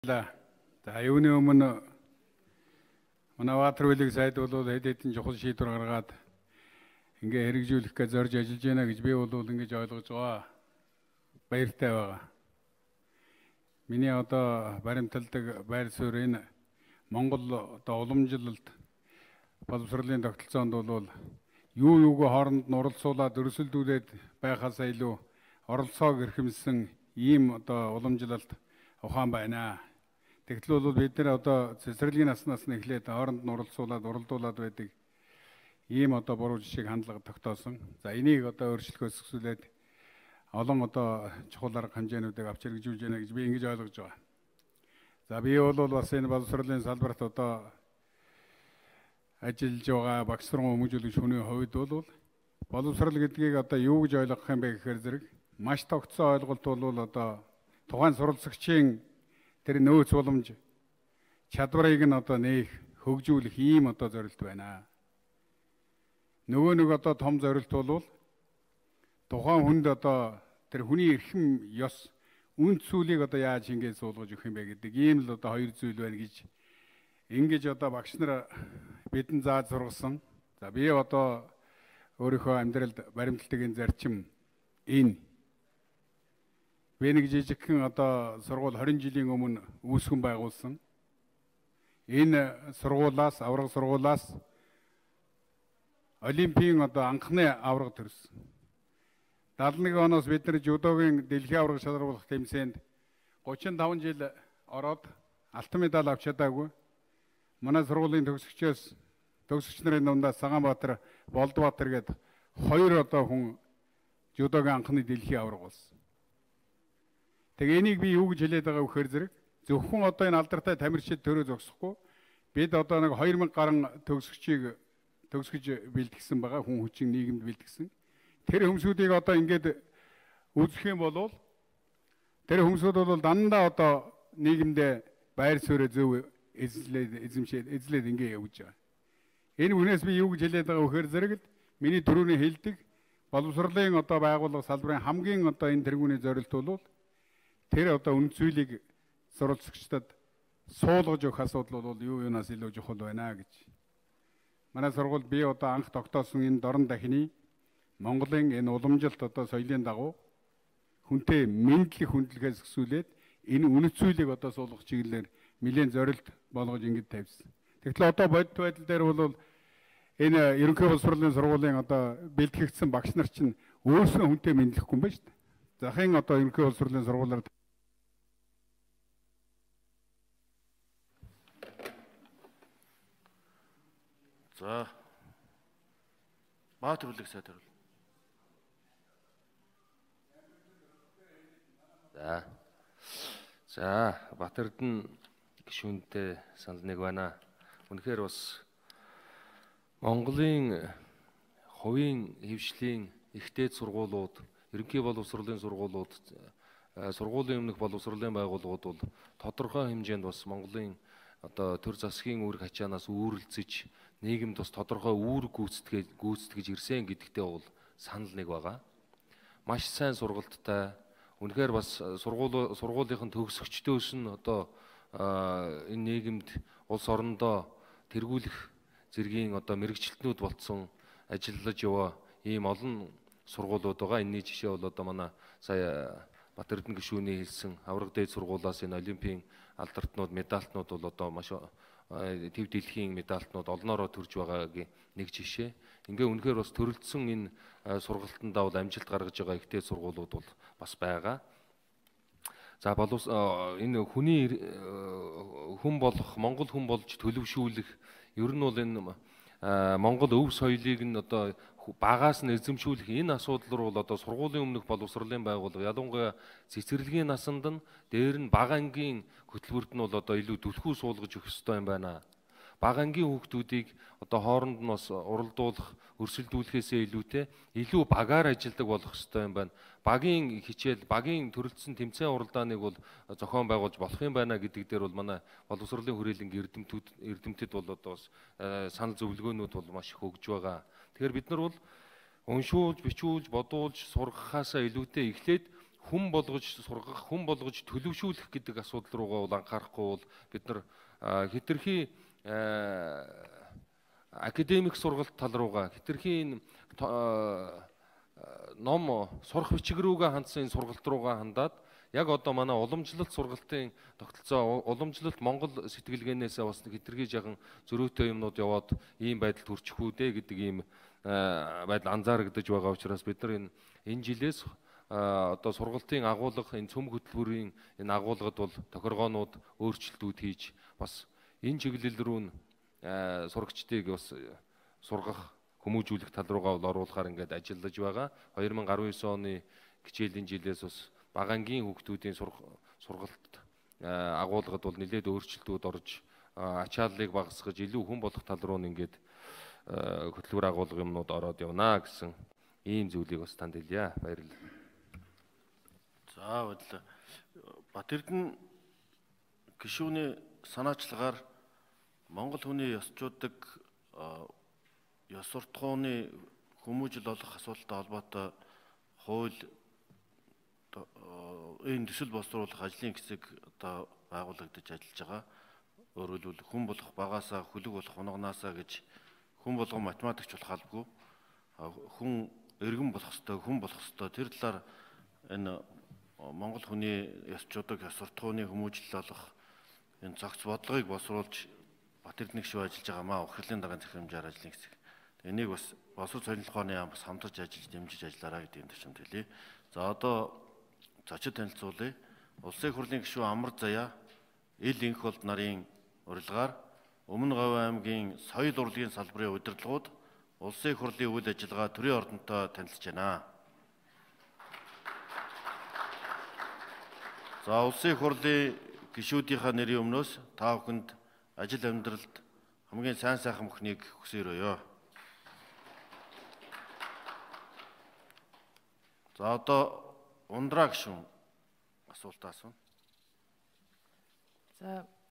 баярлалаа. За юуны өмнө манай Ватрвелиг сайд бол хэд хэдэн чухал шийдвэр гаргаад ингээ хэрэгжүүлэх гэж зорж ажиллаж байна гэж би бол ингэж ойлгож байгаа. Баяртай байгаа. Миний одоо баримталдаг байр суурь энэ Монгол одоо уламжлалт боловсролын тогтолцоонд бол юу юуг хооронд нь оролцуулаад өрсөлдүүлээд байхаасаа илүү оролцоог эрхэмсэн ийм одоо уламжлалт ухаан байна. Тэгтэл бол бид нэр одоо цэцэрлэгийн наснаас нь эхлээд хооронд нь уралдуулаад байдаг ийм одоо буруу жишээг хандлага тогтоосон. За энийг одоо өөрчлөхөөс эхлээд олон одоо чухал арга хэмжээнүүдийг авч хэрэгжүүлж байна гэж би ингэж ойлгож байгаа. За би бол бас энэ боловсролын салбарт одоо ажиллаж байгаа багш сургууль хүмүүжүүлэгч хүний хувьд бол боловсрол гэдгийг одоо юу гэж ойлгох юм бэ гэхээр зэрэг маш тогтсон ойлголт бол одоо тухайн суралцагчийн тэр нөөц боломж чадварыг нь одоо нээх хөгжүүлэх ийм одоо зорилт байна. Нөгөө нэг одоо том зорилт бол тухайн хүнд одоо тэр хүний эрхэм ёс үнд цүүлийг одоо яаж ингэж суулгаж өгөх юм бэ гэдэг ийм л одоо хоёр зүйл байна гэж ингэж одоо багш нар бидэнд зааж сургасан. За би одоо өөрийнхөө амьдралд баримтлагдаг энэ зарчим энэ би нэг жижигхэн одоо сургууль 20 жилийн өмнө үүсгэн байгуулсан. Энэ сургуулаас авраг сургуулаас Олимпийн одоо анхны авраг төрсөн. 71 оноос бид нар жудогийн дэлхийн авраг шалгаруулах тэмцээнд 35 жил ороод алтан медаль авч чадаагүй. Манай сургуулийн төгсөгч нарын дундаас Цагаанбаатар, Болдбаатар гээд хоёр одоо хүн жудогийн анхны дэлхийн авраг болсон. Тэгээ энийг би юу гэж хэлээд байгаа вэхээр зэрэг зөвхөн одоо энэ алдартай тамирчид төрөө зогсохгүй бид одоо нэг 2000 гаруй төгсөгчийг төгсгөж бэлтгэсэн байгаа хүн хүчин нийгэмд бэлтгэсэн. Тэр хүмүүсүүдийг одоо ингээд үзэх юм бол тэр хүмүүсүүд бол дандаа одоо нийгэмдээ байр суурь зөв эзлээд ингээд явж байгаа. Энэ үнээс би юу гэж хэлээд байгаа вэхээр зэрэг л миний түрүүний хэлдэг боловсролын одоо байгууллага салбарын хамгийн одоо энэ тэргүүний зорилт бол тэр одоо үн цэлийг суралцагчдад суулгаж өгөх асуудал бол юу юунаас илүү чухал байна гэж. Манай сургууль би одоо анх тогтоосон энэ дорн дахины Монголын энэ уламжилт одоо соёлын дагуу хүнтэй мэдлэг хүндлэгээс өсвөлээд энэ үн цэлийг одоо суулгах чиглэлээр нэлээд зорилт болгож ингэж тавьсан. Тэгэхээр одоо бодит байдал дээр бол энэ ерөнхий боловсролын сургуулийн одоо бэлтгэгдсэн багш нар чинь өөрсдөө хүнтэй мэдлэхгүй юм байна шүү дээ. Захын одоо ерөнхий боловсролын сургуулиар за Баатар үлэг сайд харуул. За Батэрдэн гишүүнтэй санал нэг байна. Үнэхээр бас Монголын хувийн хэвшлийн ихтэй сургуулиуд, ерөнхий боловсролын сургуулиуд, сургуулийн өмнөх боловсролын байгууллагууд бол тодорхой хэмжээнд бас Монголын одоо төр засгийн үүрэг ачаанаас үүрэлцэж нийгэмд бас тодорхой үүрэг гүйцэтгэж ирсэн гэдэгтээ бол санал нэг байгаа. Маш сайн сургалттай. Үнэхээр бас сургуулийн төгсөгчдөөс нь одоо энэ нийгэмд улс орондоо тэргүүлэх зэргийн одоо мэрэгчлэтнүүд болцсон ажиллаж яваа ийм олон сургуулиуд байгаа. Энэний жишээ бол одоо манай сая Батэрдэн гишүүний хэлсэн авраг дээд сургуулиас энэ Олимпийн алдартнууд, медальтнууд бол одоо маш төв дэлхийн медальтнууд олноороо төрж байгаагийн нэг жишээ. Ингээ үнэхээр бас төрөлдсөн энэ сургалтандаа бол амжилт гаргаж байгаа ихтэй сургуулиуд бол бас байгаа. За энэ хүн болох, Монгол хүн болж төлөвшүүлэх ер нь бол энэ Монгол өв соёлыг нь одоо багаас нь эзэмшүүлэх энэ асуудал руу бол одоо сургуулийн өмнөх боловсролын байгууллага ялангуяа цэцэрлэгийн насанд нь дээр нь бага ангийн хөтөлбөрт нь бол одоо илүү түлхүү суулгаж өгөх ёстой юм байна. Бага ангийн хүүхдүүдийг одоо хооронд нь бас уралдуулах, өрсөлдүүлэхээсээ илүүтэй илүү багаар ажилдаг болох ёстой юм байна. Багийн хичээл, багийн төрөлцсөн тэмцээн уралдааныг бол зохион байгуулж болох юм байна гэдэг дээр бол манай боловсролын хүрээлэнгийн эрдэмтэд бол одоо бас санал зөвлөгөөнүүд бол маш их өгж байгаа. Тэгэхээр бид нар бол уншуулж, бичүүлж, бодуулж, сургахаасаа илүүтэй эхлээд хүн болгож сургах, хүн болгож төлөвшүүлэх гэдэг асуудал руугаа бол анхаарахгүй бол бид нар хэтэрхий академик сургалт тал руугаа хэтэрхий ном сурах бичиг рүүгээ хандсан сургалт руугаа хандаад яг одоо манай уламжлалт сургалтын тогтолцоо уламжлалт Монгол сэтгэлгээнээс бас хэтэрхий жахан зөрүүтэй юмнууд яваад ийм байдалд хүрчих үү дээ гэдэг ийм байдал анзаарэгдэж байгаа учраас бид нар энэ жилээс одоо сургалтын агуулга энэ цөм хөтөлбөрийн энэ агуулгад бол тохиргоонууд өөрчлөлтүүд хийж бас энэ чиглэл рүү сурагчдыг бас сургах хүмүүжүүлэх тал руугаа бол оруулахаар ингээд ажиллаж байгаа. 2019 оны хичээлийн жилээс бас багангийн хүүхдүүдийн сургалт агуулгад бол нэлээд өөрчлөлтүүд орж ачааллыг багасгаж илүү хүн болох тал руу ингээд хөтөлбөр агуулга юмнууд ороод явна гэсэн ийм зүйлийг бас танд хэлье. Баярлалаа. За баярлалаа. Бат Эрдэнэ гишүүний санаачлагаар Монгол хүний ёсчуудаг ёс суртахууны хүмүүжил олох асуудалтай холбоотой хууль энэ төсөл боловсруулах ажлын хэсэг одоо байгуулагдаж ажиллаж байгаа. Өөрөөр хэлбэл хүн болох багаасаа хүлэг болох унгаанаасаа гэж хүн болгон математикч болох албагүй. Хүн эргэн болох ёстой, хүн болох ёстой. Тэр талаар энэ Монгол хүний ёсчуудаг ёс суртахууны хүмүүжил олох энэ цогц бодлогыг боловсруулж Бат Эрдэнэ гишүү ажиллаж байгаа маа ухрлын даргын захирамжаар ажлын хэсэг. Энийг бас боловсрол сонирхлын ухааны яам бас хамтарч ажиллаж дэмжиж ажиллаарай гэдэг энэ төвчөнд хэлье. За одоо зочид танилцуулъя. Улсын их хурлын гишүүн Амар Заяа ил энх болд нарын урилгаар Өмнө Говь аймгийн соёл урлагийн салбарын удирдлагууд улсын их хурлын үйл ажиллагаа төрийн ордонтой танилцж байна. За улсын их хурлын гишүүдийнхаа нэрийн өмнөөс та бүхэнд ажил амьдралд хамгийн сайн сайхан бүхнийг хүсээрөөё. За одоо Ундраа гишүүн асуулт асууна. За